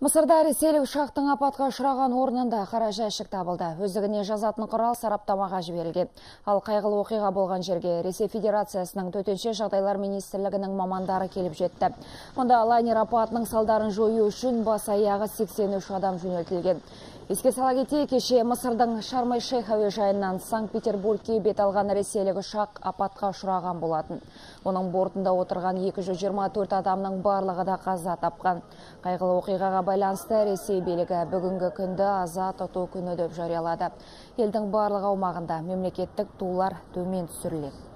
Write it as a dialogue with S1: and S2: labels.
S1: Мысырда ресейлік ұшақтың апатқа ұшыраған орнында қара жәшік табылды. Өздігіне жазатын құрал сараптамаға жіберілген. Ал қайғылы оқиға болған жерге Ресей Федерациясының төтенше жағдайлар министрлігінің мамандары келіп жетті. Мұнда лайнер апатының салдарын жою үшін бас-аяғы 83 адам жөнелтілген. Еске сала кетейік, кеше Мысырдың Шарм-эль-Шейх әуежайынан Санкт-Петербургке бет алған ресейлік ұшақ апатқа ұшыраған болатын. Оның бортында отырған 224 адамның барлығы да қаза тапқан. Қайғылы оқиғаға байланысты Ресей билігі бүгінгі күнді аза тұту күні деп жариялады. Елдің барлық аумағында мемлекеттік тулар төмен түсіріледі.